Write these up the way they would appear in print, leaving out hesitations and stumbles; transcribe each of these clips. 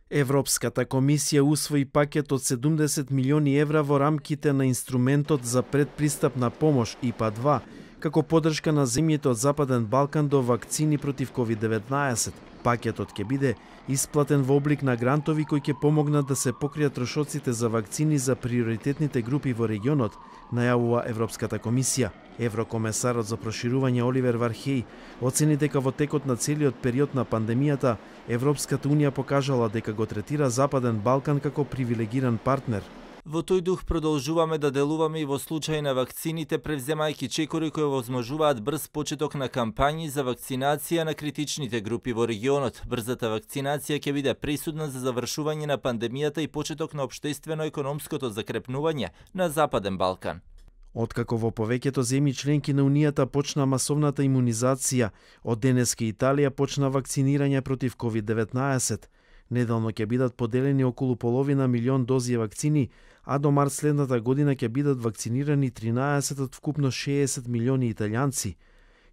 Европската комисија усвои пакет од 70 милиони евра во рамките на инструментот за предпристапна помош ИПА-2, како поддршка на земјите од Западен Балкан до вакцини против COVID-19. Пакетот ќе биде исплатен во облик на грантови кои ќе помогнат да се покријат трошоците за вакцини за приоритетните групи во регионот, најавува Европската комисија. Еврокомесарот за проширување Оливер Вархеј оцени дека во текот на целиот период на пандемијата Европската унија покажала дека го третира Западен Балкан како привилегиран партнер. Во тој дух продолжуваме да делуваме и во случај на вакцините, превземајќи чекори кои возможуваат брз почеток на кампањи за вакцинација на критичните групи во регионот. Брзата вакцинација ќе биде пресудна за завршување на пандемијата и почеток на општествено-економското закрепнување на Западен Балкан. Откако во повеќето земји членки на Унијата почна масовната имунизација, од денеска Италија почна вакцинирање против COVID-19. Неделно ќе бидат поделени околу половина милион дози вакцини, а до март следната година ќе бидат вакцинирани 13 од вкупно 60 милиони италијанци.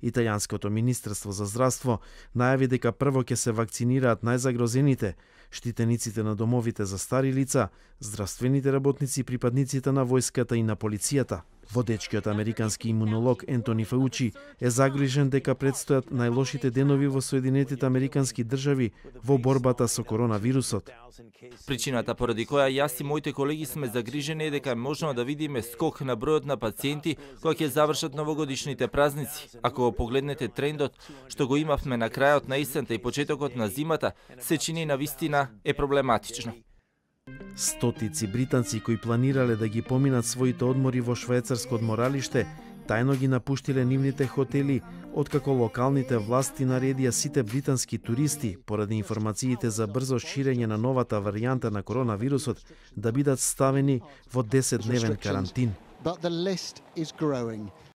Италијанското министерство за здравство најави дека прво ќе се вакцинираат најзагрозените, штитениците на домовите за стари лица, здравствените работници и припадниците на војската и на полицијата. Водечкиот американски имунолог Ентони Фаучи е загрижен дека предстојат најлошите денови во Соединетите Американски држави во борбата со коронавирусот. Причината поради која јас и моите колеги сме загрижени е дека е можно да видиме скок на бројот на пациенти кои ќе завршат новогодишните празници. Ако го погледнете трендот што го имавме на крајот на есента и почетокот на зимата, се чини навистина е проблематично. Стотици британци кои планирале да ги поминат своите одмори во швајцарско одморалиште, тајно ги напуштиле нивните хотели, откако локалните власти наредија сите британски туристи, поради информациите за брзо ширење на новата варијанта на коронавирусот, да бидат ставени во 10-дневен карантин.